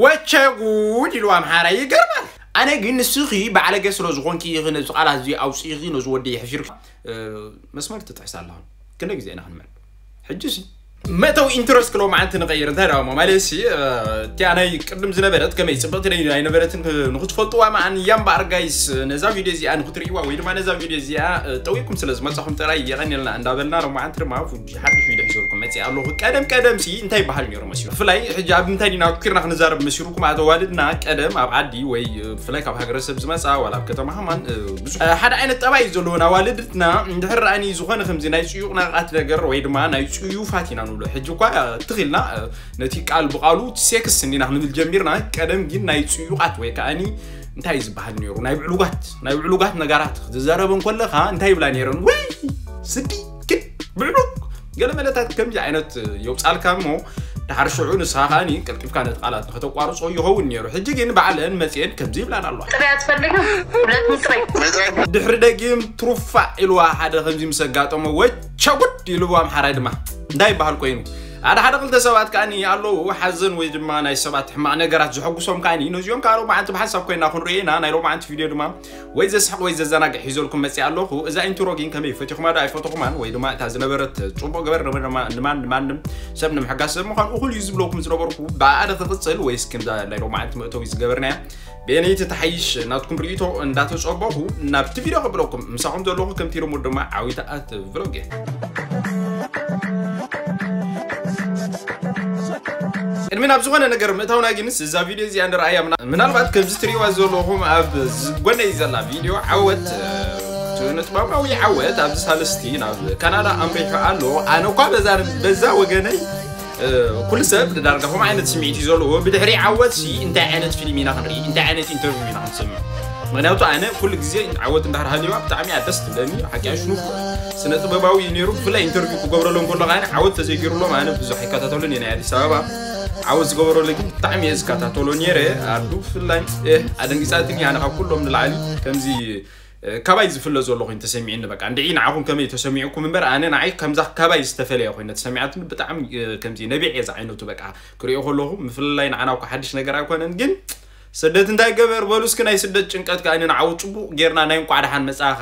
ወቸ ጉድ ኢሉ ኣምሓራ ይገርማል። ኣነ ግን ንስኺ ባዕለገ ስለ ዝኾንኪ ኢኺ ነዚ ቃላት እዚ ኣውፂእኺ ነዚ ወዲ የሕፊርኪ። መስመር ትጥሕስ ኣለኹ። ክንደይ ግዜ ኢና ክንምዕድ? ሕጂ ሲ መእተዊ ኢንትረስት ክሎ መዓንቲ ንቐይር። እንታይ ደኣ ማለት ሲ እቲ ኣናይ ቅድም ዝነበረት ከመይ ፅብቕቲ ናይ ኣይነበረትን ንክትፈልጥዋ መዓን እያ እምበኣር ጋይስ፣ ነዛ ቪድዮ እዚኣ ንክትርእይዋ ወይ ድማ ነዛ ቪድዮ እዚኣ ጠዊኩም ስለ ዝመፃኹም ጥራይ የቐንየልና እንዳበልና ሎማዓንቲ ድማ ሓድሽ ቪድዮ ሒዘልኩም መፅእ ኣለኹ። ቀደም ቀደም ሲ እንታይ ይበሃል ነይሩ መሲሉ? ብፍላይ ሕጂ ኣብ ምንታይ ዲና ኣትኩርና ክንዛረብ መሲሉኩም? ኣዋልድና ቀደም ኣብ ዓዲ ወይ ብፍላይ ካብ ሃገረሰብ ዝመፃ ዋላ ኣብ ከተማ ሃማን ብዙሕ ሓደ ዓይነት ጠባይ እዩ ዘለወን ኣዋልድትና። እንድሕር ረኣኒ ዝኾነ ከምዚ ናይ ፅዩቕ ናቃት ነገር ወይ ድማ ናይ ፅዩፋት ኢና ንብሎ። ሕጂ እኳ ትኽልና ነቲ ቃል ብቃሉ ሴክስ እንዲና ክንብል ጀሚርና። ቀደም ግን ናይ ፅዩቓት ወይ ከዓኒ እንታይ ዝበሃል ነይሩ ናይ ብዕሉጋት ናይ ብዕሉጋት ነገራት ክትዛረበን ከለኻ እንታይ ይብላ ነይረን? ወይ ስዲ ግን ብዕሉግ ገለ መለታት ከምዚ ዓይነት የውፃልካ እሞ ድሓር ሽዑ ንስኻ ከዓኒ ቀልጢፍካ ነቲ ቃላት ንኸተቋርጾ ይኸውን ነይሩ። ሕጂ ግን ባዕለን መፅየን ከምዚ ይብላን ኣለዋ። ጥራይ ኣትፈልግም ሁለት ምጥራይ ድሕሪ ደጊም ትሩፋዕ ኢልዋ ሓደ ከምዚ ምስ ኣጋጠሞ ወቸጉድ ኢልዎ ኣምሓራይ ድማ እንታይ ይበሃል ኮይኑ ሓደ ሓደ ክልተ ሰባት ከዓኒ ኣለዉ ሓዘን ወይ ድማ ናይ ሰባት ሕማቕ ነገራት ዝሐጉሶም ከዓኒ ነዚኦም ከዓ ሎማዓንቲ ብሓንሳብ ኮይና ክንርኢ ኢና። ናይ ሎማዓንቲ ቪድዮ ድማ ወይ ዘስሕቕ ወይ ዘዘናግዕ ሒዘልኩም መፅእ ኣለኹ። እዛ ኢንትሮ ግን ከመይ ፈቲኹማ ዶ ኣይፈተኹማን ወይ ድማ እታ ዝነበረት ፅቡቕ ገበር ንማን ንማንም ሰብ ንምሕጋዝ ሰብ ምዃን እኹል እዩ ዝብለኩም ዝነበርኩ ብኣደ ክቕፅል ወይስ ክንዛ ናይ ሎማዓንቲ መእተዊ ዝገበርናያ በየነይቲ ተሓይሽ ናትኩም ርእቶ እንዳተጸበኹ ናብቲ ቪድዮ ከብለኩም ምሳኹም ዘለኹ ከምቲ ልሙድ ድማ ዓዊታ ኣት ቭሎግ እየ። ቅድሚ ናብ ዝኾነ ነገር ምእታውና ግንስ እዛ ቪድዮ እዚኣ ንረኣያ ምና- ምናልባት ከምዚ ትሪእዋ ዘለኹም ኣብ ጎነይ ዘላ ቪድዮ ዓወት ስነ ጥበባዊ ዓወት ኣብዚ ሳልስቲ ናብ ካናዳ ኣምሪሑ ኣሎ። ኣነ እኳ በዛ በዛ ወገነይ ኩሉ ሰብ ዳርጋ ከምኡ ዓይነት ስምዒት እዩ ዘለዎ። ብድሕሪ ዓወት ሲ እንታይ ዓይነት ፊልም ኢና ክንርኢ እንታይ ዓይነት ኢንተርቪው ኢና ክንሰምዕ? ምክንያቱ ኣነ ኩሉ ግዜ ዓወት እንዳር ሃሊዋ ብጣዕሚ እያ ደስ ትብለኒ። ሓቂ ኣሽኑፍ ስነ ጥበባዊ እዩ ነይሩ። ብፍላይ ኢንተርቪው ክገብረሎም ከሎ ከዓኒ ዓወት ተዘይገይሩሎም ኣነ ብዙሕ ኣይከታተሉን እየ ናይ ኣዲስ ኣበባ ዓወት ዝገበረሉ ግን ብጣዕሚ እየ ዝከታተሎ ነይረ። ኣዱ ብፍላይ ኣደንጊፃትኒ ኣነ ካብ ኩሎም ንላዕሊ ከምዚ ካባይ ዝፍለ ዘሎ ኮይኑ ተሰሚዕኒ በቃ እንድዒ ንዓኹም ከመይ ተሰሚዕኩም እምበር ኣነ ንዓይ ከምዛ ካባይ ዝተፈለየ ኮይኑ ተሰሚዓትኒ ብጣዕሚ ከምዚ ነቢዕ እየ ዝዓይነቱ በቃ ክሪኦ ከለኹ ምፍልላይ ንዓና እኳ ሓድሽ ነገር ኣይኮነን ግን ስደት እንታይ ገበር በሉ እስኪ ናይ ስደት ጭንቀት ከኣኒ ንዓው ጽቡቕ ጌርና ናይ እንቋዕ ደሓን መጻኻ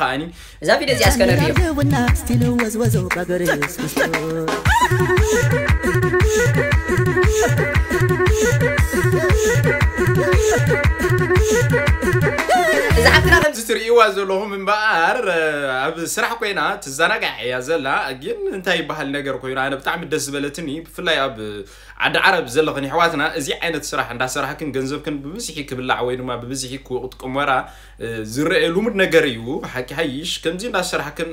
ከኣኒ እዛ ቪድዮ እዚኣ እስከ ነርእዮ ና ስቲል ወዝወዞ ባገር ስስቶ እዛ ሓፍትና ከምዚ ትርእይዋ ዘለኹም እምበኣር ኣብ ስራሕ ኮይና ትዘናጋዕ እያ ዘላ ግን እንታይ ይበሃል ነገር ኮይኑ ኣነ ብጣዕሚ ደስ ዝበለትኒ ብፍላይ ኣብ ዓዲ ዓረብ ዘለኽን ይሕዋትና እዚ ዓይነት ስራሕ እንዳሰራሕክን ገንዘብክን ብብዝሒ ክብላዕ ወይ ድማ ብብዝሒ ክጥቅም ወራ ዝረአ ልሙድ ነገር እዩ ሓቂ ሓይሽ ከምዚ እንዳሰራሕክን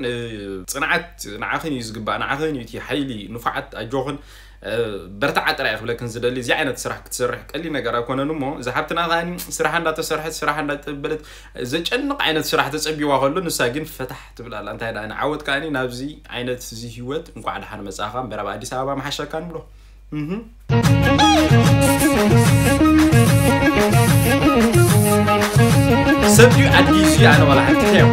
ፅንዓት ንዓኽን እዩ ዝግባእ ንዓኽን እዩ እቲ ሓይሊ ንፉዓት ኣጆኽን በርትዓ ጥራይ ክብለክን ዝደሊ እዚ ዓይነት ስራሕ ክትሰርሕ ቀሊል ነገር ኣይኮነን እሞ እዛ ሓብትና ከዓኒ ስራሓ እንዳተሰርሐት ስራሓ እንዳተበለት ዘጨንቕ ዓይነት ስራሕ ተጸቢዋ ከሎ ንሳ ግን ፈታሕ ትብል ኣላ እንታይ ደኣ ንዓወት ከዓኒ ናብዚ ዓይነት እዚ ህይወት እንኳዕ ደሓን መጻኻ እምበር ኣብ ኣዲስ ኣበባ መሓሸካ ንብሎ ሰብ ድዩ ኣዲስ እዩ ኣነ ዋላ ሓንቲ ሕዮ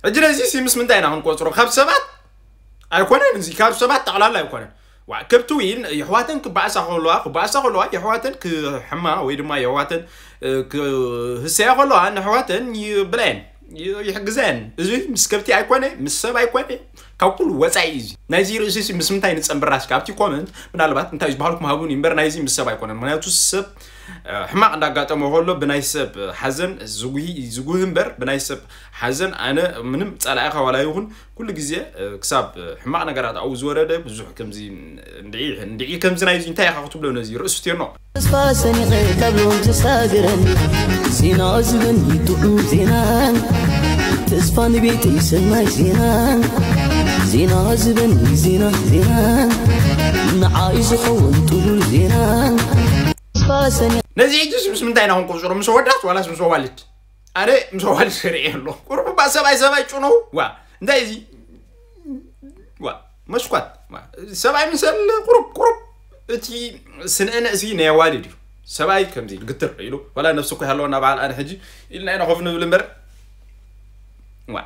ሕጂ ነዚ ሲ ምስ ምንታይ ኢና ክንቆፅሮ ካብ ሰባት ኣይኮነን እዚ ካብ ሰባት ጠቕላላ ኣይኮነን ዋ ከብቲ ዊን የሕዋተን ክበኣሳ ከለዋ ክበኣሳ ከለዋ የሕዋተን ክሕማ ወይ ድማ የሕዋተን ክህሰያ ከለዋ ንሕዋተን ይብላየን ይሕግዘን እዚ ምስ ከብቲ ኣይኮነ ምስ ሰብ ኣይኮነ ካብ ኩሉ ወፃኢ እዚ ናይዚ ርእሲ ምስ ምንታይ ንፀንብራስ ካብቲ ኮመንት ምናልባት እንታይ ዝበሃልኩም ሃቡን እምበር ናይዚ ምስ ሰብ ኣይኮነን ምክንያቱ ሰብ ሕማቕ እንዳጋጠሞ ከሎ ብናይ ሰብ ሓዘን ዝጉሂ ዝጉሂ እምበር ብናይ ሰብ ሓዘን ኣነ ምንም ጸላኢኻ ዋላ ይኹን ኩሉ ግዜ ክሳብ ሕማቕ ነገራት ኣብኡ ዝወረደ ብዙሕ ከምዚ እንድዒ እንድዒ ከምዚ ናይዚ እንታይ ኢኻ ክትብሎ ነዚ ርእሱ ትየኖ ተስፋ ሰኒቐ ካብ ሎም ተሳግረን ዜና ዝብን ይጥዑም ዜና ተስፋ ንቤተይ ሰናይ ዜና ዜና ዝብን ዜና ዜና ንዓይ ዝኸውን ጥሉል ዜና ተስፋ ሰኒቐ ነዚ ሕጂ ምስ ምንታይ ኢና ክንቆፅሮ ምስ ወዳት ዋላስ ምስ ኣዋልድ ኣነ ምስ ኣዋልድ ርእየ ኣሎ ቁሩብ እባ ሰብኣይ ሰብኣይ ጭኖ ዋ እንታይ እዚ ዋ መስኳት ሰብኣይ ምሰል ቁሩብ ቁሩብ እቲ ስንእነ እዚ ናይ ኣዋልድ እዩ ሰብኣይ ከምዚ ግትር ኢሉ ዋላ ነብሲ እኮ ያለወና በዓል ኣነ ሕጂ ኢልና ኢና ኮፍ ንብል እምበር ዋ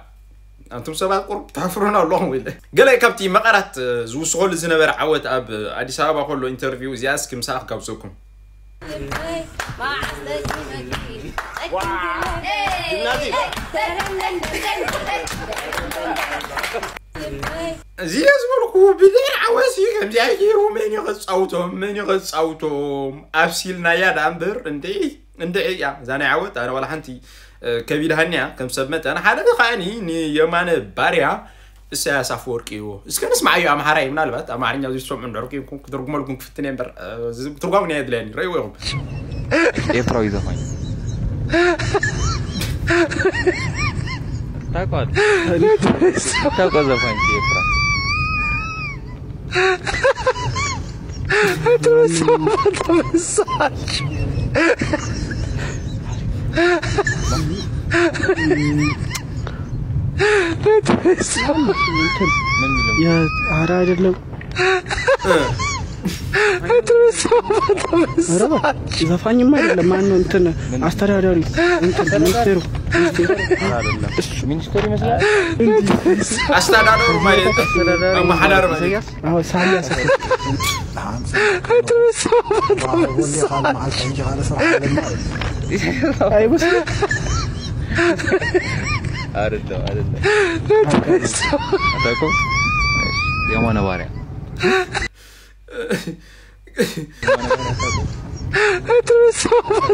ኣንቱም ሰባት ቁሩብ ተሕፍሩና ኣለኹም። ኢለ ገለ ካብቲ መቐራት ዝውስኸሉ ዝነበረ ዓወት ኣብ ኣዲስ ኣበባ ከሎ ኢንተርቪው እዚኣ እስኪ ምሳኣ ክጋብዘኩም። እዚ ዝበልኩ ብሌን ዓወት እዩ ከምዚኣ ገይሩ መን እዩ ከፃውቶም መን እዩ ከፃውቶም ኣብሲልናያ ዳ እምበር እንደ እንደ እያ እዛ ናይ ዓወት ኣነ ዋላ ሓንቲ ከቢድሃኒ እያ ከም ሰብ መጠን ሓደ ከዓኒ ንየማነ ባርያ እሰያስ ኣፈወርቂ እዩ እስከ ንስማዓዮ ኣምሓራይ ምናልባት ኣማርኛ ዝሰምዑ እንድሕር ኮይንኩም ክትርጉመልኩም ክፍትን እየ እምበር ትርጓሙ ናይ የድለየኒ ረእይዎ ኢኹም ኤርትራዊ ዘፋኝ ታቋል ታቋ ዘፋኝ ኤርትራ ኧረ አይደለም። ዘፋኝማ አይደለም። ማን ነው እንትን አስተዳዳሪ እንትን ሚኒስቴሩ ሚኒስቴር ይመስላል። አስተዳደሩ ማለት አመሐዳር ማለት አዎ ሳያስ አይመስልም። አይደለም አይደለም። አታውቁም? የማነ ባሪያ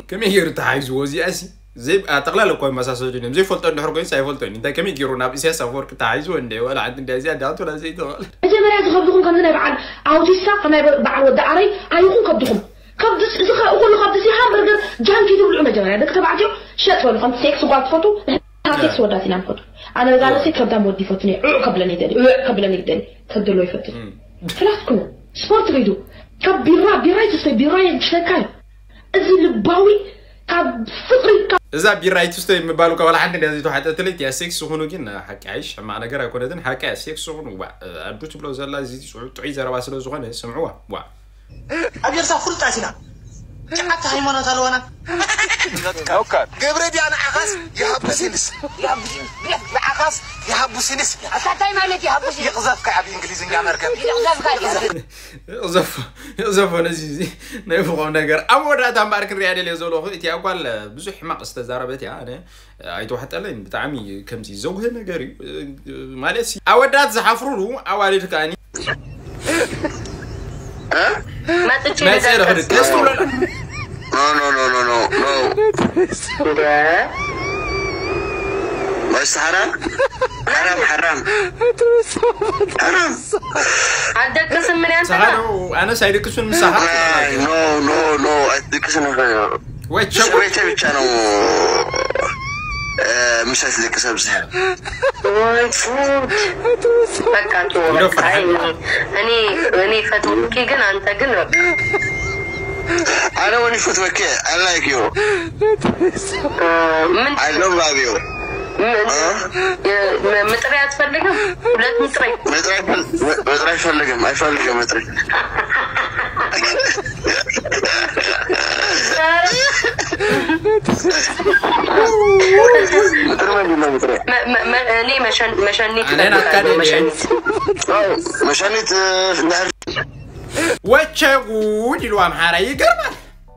ከመይ ገይሩ ተሓይዝዎ እዚኣ ሲ ጠቕላላ እኮ መሳሰሉ እዮም ዘይፈልጦ እንድሕር ኮይኑ ኣይፈልጦ እንታይ ከመይ ገይሩ ናብ ኢሳያስ ኣፈወርቂ ተሓይዝዎ እንደ ወላ ዓዲ እንደ እዚኣ ዳቱ ላ ዘይተባለ መጀመርያ ዝኸብድኹም ከምዚ ናይ በዓል ኣውቲስታ ከናይ በዓል ወዲ ዓረይ ኣይኹን ከብድኹም ከብድስ እዚ ኩሉ ከብድስ ሃምበርገር ጃንኪ ትብልዑ መጀመርያ ደቂ ተባዕትዮ ሸጥ በሉ ከም ሴክስ ጓል ትፈቱ ሴክስ ወዳት ኢና ንፈቱ ኣነ በዛ ርእሰይ ከብዳም ወዲ ይፈቱ ዕዕ ከብለኒ ይደሊ ዕዕ ከብለኒ ይደሊ ከብደሎ ይፈቱ ፍላት ኩኑ ስፖርት ሪዱ ካብ ቢራ ቢራ ይትስተ ቢራ የግሽለካ እዩ እዚ ልባዊ ካብ ፍቅሪ ካብ እዛ ቢራ ይትስተ ምባሉ ካብ ሓንቲ እንዲያ ዘይተዋሕጠትለይ እቲያ ሴክስ ዝኾኑ ግን ሓቂ ኣይሽ ሕማቕ ነገር ኣይኮነትን ሓቂ እያ ሴክስ ዝኾኑ ዋ ኣዱ ትብሎ ዘላ እዚ ጥዑይ ዘረባ ስለ ዝኾነ ስምዕዋ ዋ ኣብ ኤርትራ ፍሉጣት ኢና ጫዓት ሃይማኖት ኣለዋና ገብረ ድያ ንዓኻስ ይሃብስ ኢልስ ንዓኻስ ይሃብስ ኢልስ ኣታታይ ማለት ይሃብስ ይቕዘፍካ ኣብ እንግሊዝኛ መርከብ ይቕዘፍካ ዘፎ ነዚ እዚ ናይ ፍቆም ነገር ኣብ መወዳእታ እምበኣር ክንሪኣ ደልየ ዘለኹ እቲኣ ጓል ብዙሕ ሕማቕ ዝተዛረበት እያ ኣነ ኣይተዋሕጠለይን ብጣዕሚ ከምዚ ዘጉህ ነገር እዩ ማለት ሲ ኣወዳት ዝሓፍሩሉ ኣዋልድ ከኣኒ መጥቼ ናይ ጸረ ክድ ቀስ ትብለላ No, no, no, no, no, no. Basta haram. Haram, haram. Haram. ኣደቅስም ምን ያንተ ሰሃዶ ኣነስ ኣይደቅሱን ምሳኻ Ay, no, no, no. Addiction. ወይ ቸው Wait, wait, wait. ወይ ጉድ በቃ ተወው በቃ እኔ እኔ ፈትወኪ ግን አንተ ግን በቃ I don't want to fuck with I like you. ምን I love you. ምጥሪ አትፈልግም? ሁለት ምጥሪ መጥራት መጥራት ፈልግም አይፈልግም መጥራት እኔ መሸኒት እኔን አካደኝ። መሸኒት መሸኒት እንዳህል ወቸ ጉድ ይሉ ኣምሓራ ይገርማል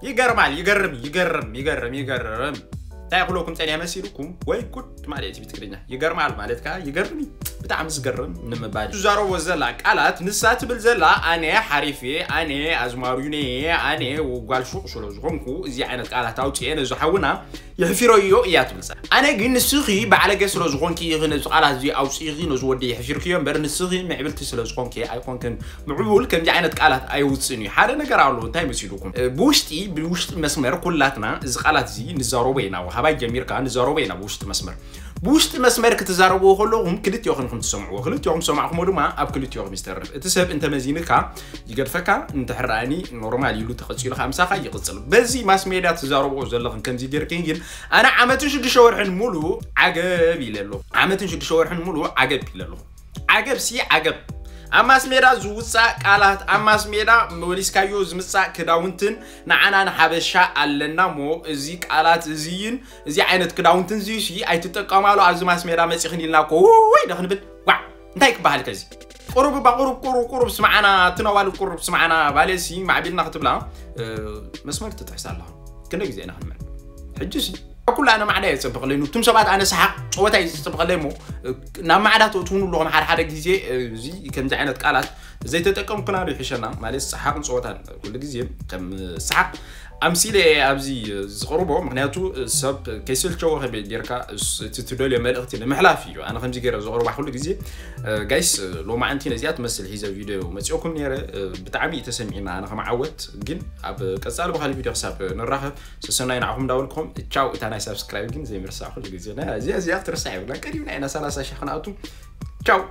ይገርማል ይገርም ይገርም ይገርም ይገርም እንታይ ክብለኩም ጸኒያ መሲልኩም ወይ ጉድ ማለት እዩ ብትግርኛ ይገርማል ማለት ከ ይገርም እዩ ብጣዕሚ ዝገርም ንምባል ትዛረቦ ዘላ ቃላት ንሳ ትብል ዘላ ኣነ ሓሪፍ እየ ኣነ ኣዝማሪዩ ነየ ኣነ ጓል ሹቕ ስለ ዝኾንኩ እዚ ዓይነት ቃላት ኣውፅኤ ነዚ ሓውና የሕፊረዮ እያ ትብል ዘላ ኣነ ግን ንስኺ ባዕለገ ስለ ዝኾንኪ ኢኺ ነዚ ቃላት እዚ ኣውፂእኺ ነዚ ወዲ የሕፊርክዮ እምበር ንስኺ ምዕብልቲ ስለ ዝኾንኪ ኣይኮንክን ምዕቡል ከምዚ ዓይነት ቃላት ኣይውፅእን እዩ ሓደ ነገር ኣሎ እንታይ መሲሉኩም ብውሽጢ ብውሽጢ መስመር ኩላትና እዚ ቃላት እዚ ንዛረቦ ኢና ካባይ ጀሚርካ ንዛረቦ ኢና ብውሽጢ መስመር ብውሽጢ መስመር ክትዛረብዎ ከለኹም ክልቲኦኹም ኢኹም ትሰምዕዎ ክልቲኦኹም ሰማዕኹሞ ድማ ኣብ ክልቲኦኹም ይስተርፍ እቲ ሰብ እንተመዚንካ ይገድፈካ እንተሕራእኒ ኖርማል ኢሉ ተቐፂሉ ከዓ ምሳኻ ይቕፅል በዚ ማስ ሜድያ ትዛረብዎ ዘለኽን ከምዚ ጌርክን ግን ኣነ ዓመትን ሽዱሽተ ወርሕን ሙሉ ዓገብ ኢለ ኣለኹ ዓመትን ሽዱሽተ ወርሕን ሙሉ ዓገብ ኢለ ኣለኹ ዓገብ ሲ ዓገብ ኣብ ማስ ሜዳ ዝውፃእ ቃላት፣ ኣብ ማስ ሜዳ መሊስካዮ ዝምፃእ ክዳውንትን ንዓና ንሓበሻ ኣለና እሞ እዚ ቃላት እዚን እዚ ዓይነት ክዳውንትን እዚሲ ኣይትጠቀማሉ ኣብዚ ማስ ሜዳ መፂኽን ኢልና እኮ ውይ ዶ ክንብል። ዋ እንታይ ክበሃል ከዚ? ቁሩብ እባ ቁሩብ ቁሩብ ቁሩብ ስምዓና፣ ትነዋል ቁሩብ ስምዓና ባሌሲ ማዕቢልና ክትብላ መስመር ትጥሕስ ኣለኻ። ክንደ ግዜ ኢና ክንምዕ ሕጂ ሲ ኩሉ ኣነ ማዕዳ እየ ዝፅብቐለይ፣ ኑቱም ሰባት ኣነ ሰሓቕ ፀወታ እዩ ዝፅብቐለይ እሞ ናብ ማዕዳ ትእትውኑ ኣለኹም ሓደ ሓደ ግዜ። እዚ ከምዚ ዓይነት ቃላት ዘይተጠቀምኩና ዶ ይሕሸና ማለት ሰሓቕን ፀወታን ኩሉ ግዜ ከም ሰሓቕ ኣምሲለ እየ ኣብዚ ዝቕርቦ። ምክንያቱ ሰብ ከይሰልቸዎ ከመይ ጌርካ እቲ ትደልዮ መልእኽቲ ንምሕላፍ እዩ ኣነ ከምዚ ገይረ ዝቕርባ ኩሉ ግዜ። ጋይስ ሎማዓንቲ ነዚኣ ትመስል ሒዘ ቪድዮ መፂኦኩም ነይረ። ብጣዕሚ እዩ ተሰሚዕና ኣነ ከመዓወት ግን ኣብ ቀፃሊ ብካሊ ቪድዮ ክሳብ ንራኸብ ሰሰናይ ንዓኹም እንዳበልኩም ቻው። እታ ናይ ሳብስክራይብ ግን ዘይምርሳዕ ኩሉ ግዜ እዚኣ እዚኣ ክትርሳዕ የብላ። ቀዲምና ኢና ሰላሳ ሺሕ ክንኣቱ። ቻው።